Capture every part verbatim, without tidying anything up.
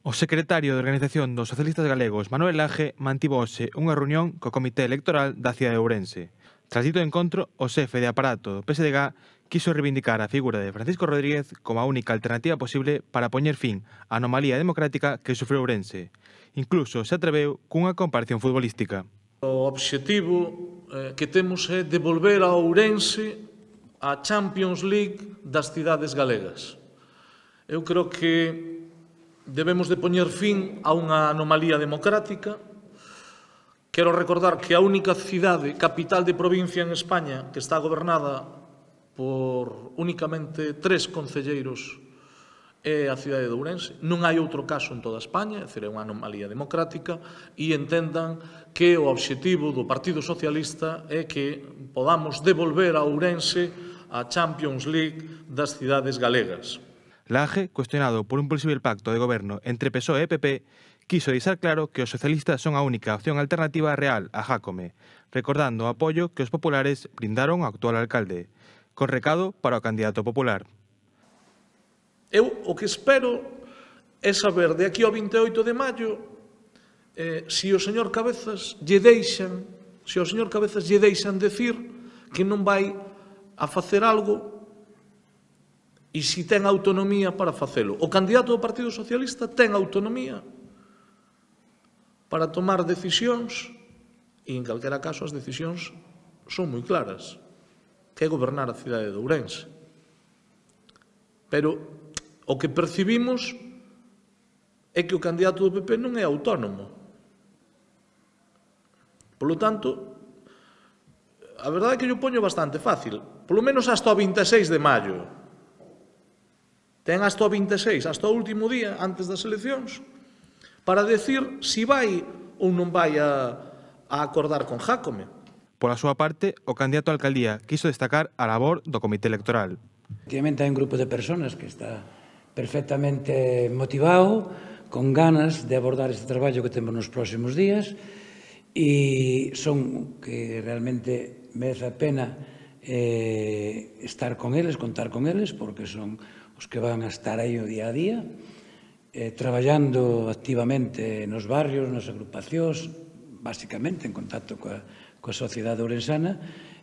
O secretario de Organización dos Socialistas Galegos, Manuel Laje, mantivose unha reunión co Comité Electoral da cidade de Ourense. Tras dito encontro, o xefe de aparato do P S D G quiso reivindicar a figura de Francisco Rodríguez como a única alternativa posible para poñer fin á anomalía democrática que sufreu Ourense. Incluso se atreveu cunha comparación futbolística. O obxectivo eh, que temos é devolver a Ourense a Champions League das cidades galegas. Eu creo que debemos de poñer fin a unha anomalía democrática. Quero recordar que a única cidade, capital de provincia en España, que está gobernada por únicamente tres concelleiros é a cidade de Ourense. Non hai outro caso en toda España, é dicir, é unha anomalía democrática, e entendan que o obxectivo do Partido Socialista é que podamos devolver a Ourense a Champions League das cidades galegas. Laje, cuestionado por un posible pacto de goberno entre P S O E e P P, quiso deixar claro que os socialistas son a única opción alternativa real a Jácome, recordando o apoio que os populares brindaron ao actual alcalde, con recado para o candidato popular. Eu o que espero é saber de aquí ao vinte e oito de maio eh, se o señor Cabezas lle deixan, se o señor Cabezas lle deixan decir que non vai a facer algo e se ten autonomía para facelo. O candidato do Partido Socialista ten autonomía para tomar decisións e, en calquera caso, as decisións son moi claras, que é gobernar a cidade de Ourense. Pero o que percibimos é que o candidato do P P non é autónomo. Polo tanto, a verdade é que yo poño bastante fácil, polo menos hasta o vinte e seis de maio. Ten hasta o vinte e seis, hasta o último día, antes das eleccións, para decir se vai ou non vai a, a acordar con Jácome. Pola súa parte, o candidato á alcaldía quiso destacar a labor do Comité Electoral. Efectivamente, hai un grupo de persoas que está perfectamente motivado, con ganas de abordar este traballo que temos nos próximos días, e son que realmente merece a pena eh, estar con eles, contar con eles, porque son os que van a estar aí o día a día, eh, traballando activamente nos barrios, nas agrupacións, basicamente en contacto coa, coa sociedade ourensana,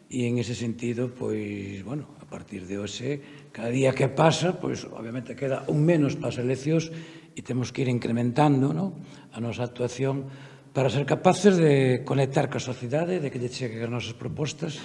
e en ese sentido, pois, bueno, a partir de hoxe, cada día que pasa, pois, obviamente, queda un menos para as eleccións e temos que ir incrementando, no, a nosa actuación para ser capaces de conectar coa sociedade, de que lle cheguen as nosas propostas